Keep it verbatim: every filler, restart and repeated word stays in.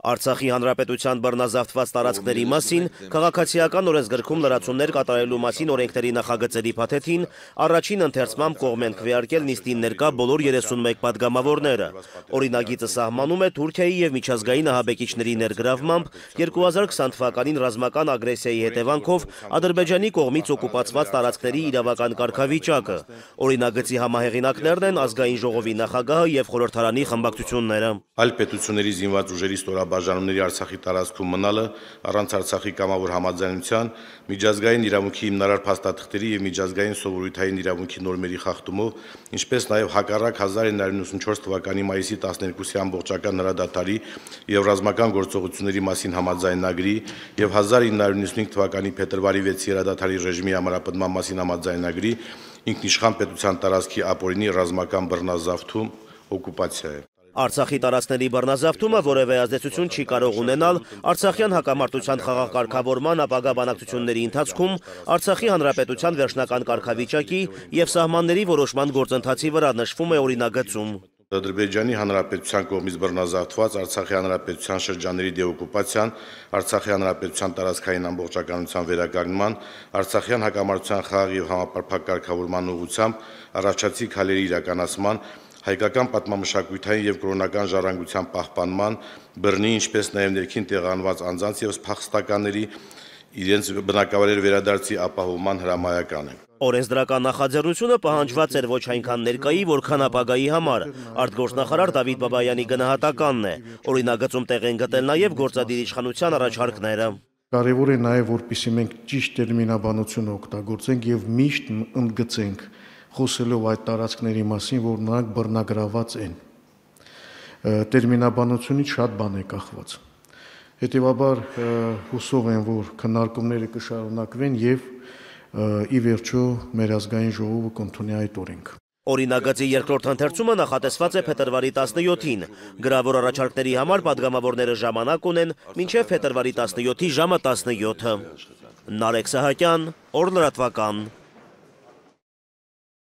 Արցախի հանրապետության բռնազավթված տարածքների մասին քաղաքացիական օրենսգրքում լրացումներ կատարելու մասին օրենքների նախագծերի փաթեթին առաջին ընթերցմամբ կողմ են քվեարկել նիստին ներկա բոլոր երեսունմեկ պատգամավորները։ Օրինագիծը սահմանում է Թուրքիայի եւ միջազգային ահաբեկիչների ներգրավմամբ երկու հազար քսան թվականին ռազմական ագրեսիայի հետևանքով Ադրբեջանի կողմից օկուպացված տարածքների իրավական կարգավիճակը։ Օրինագծի համահեղինակներն են Ազգային ժողովի նախագահը եւ խորհրդարանի խմբակցությունները։ Այլ պետությունների զինված ուժերի ստորաբաժանումների Արցախի տարածքում մնալը առանց Արցախի կամավոր համաձայնության միջազգային իրավունքի հիմնարար փաստաթղթերի եւ միջազգային սովորութային իրավունքի նորմերի խախտումով, ինչպես նաեւ հակառակ հազար ինը հարյուր նվաթ թվականի մայիսի տասներկուսի ամբողջական հրադադարի եւ ռազմական գործողությունների մասին համաձայնագրի եւ հազար ինը հարյուր նվաթ թվականի փետրվարի վեցի հրադադարի ռեժիմի ամրապնդման մասին համաձայնագրի ինքնիշխան պետության տարածքի ապօրինի ռազմական բռնազավթում օկուպացիա է։ Արցախի տարածքների բռնազավթումը որևէ ազդեցություն չի կարող ունենալ արցախյան հակամարտության խաղաղ կարգավորման ապագա բանակցությունների ընթացքում Արցախի հանրապետության վերջնական կարգավիճակի եւ սահմանների որոշման գործընթացի վրա, նշվում է օրինագծում։ Ադրբեջանի հանրապետության կողմից բռնազավթված Արցախի հանրապետության շրջանների դեօկուպացիան, Արցախի հանրապետության տարածքային ամբողջականության վերականգնման, Արցախյան հակամարտության խաղաղ եւ համապարփակ կարգավորման ուղղությամբ առաջացի քայլերի իրականացման, հայկական պատմամշակութային եւ կրոնական ժառանգության պահպանման, բռնի, ինչպես նաեւ ներքին տեղանված անձանց եւ փախստականների իրենց բնակավայրեր վերադարձի ապահովման հրամայական է։ Օրենսդրական նախաձեռնությունը պահանջված էր ոչ այնքան ներկայի, որքան ապագայի համար։ Արտգործնախարար Դավիթ Բաբայանի գնահատականն է։ Օրինագծում տեղ են գտել նաեւ գործադիր իշխանության առաջարկները։ Կարևոր է նաեւ, որպեսզի մենք ճիշտ տերմինաբանություն օգտագործենք եւ միշտ ընդգծենք խոսելով այդ տարածքների մասին, որ նրանք բռնագրաված են։ Տերմինաբանությունից շատ բան է կախված։ Հետևաբար հուսով եմ, որ քննարկումները կշարունակվեն եւ ի վերջո մեր ազգային ժողովը կընդունի այդ օրենքը։ Օրինագծի երկրորդ ընթերցումը նախատեսված է փետրվարի տասնյոթին։ Գրավոր առաջարկների համար պատգամավորները ժամանակ ունեն մինչև փետրվարի տասնյոթի ժամը տասնյոթը։ Նարեկ Սահակյան, Օր լրատվական։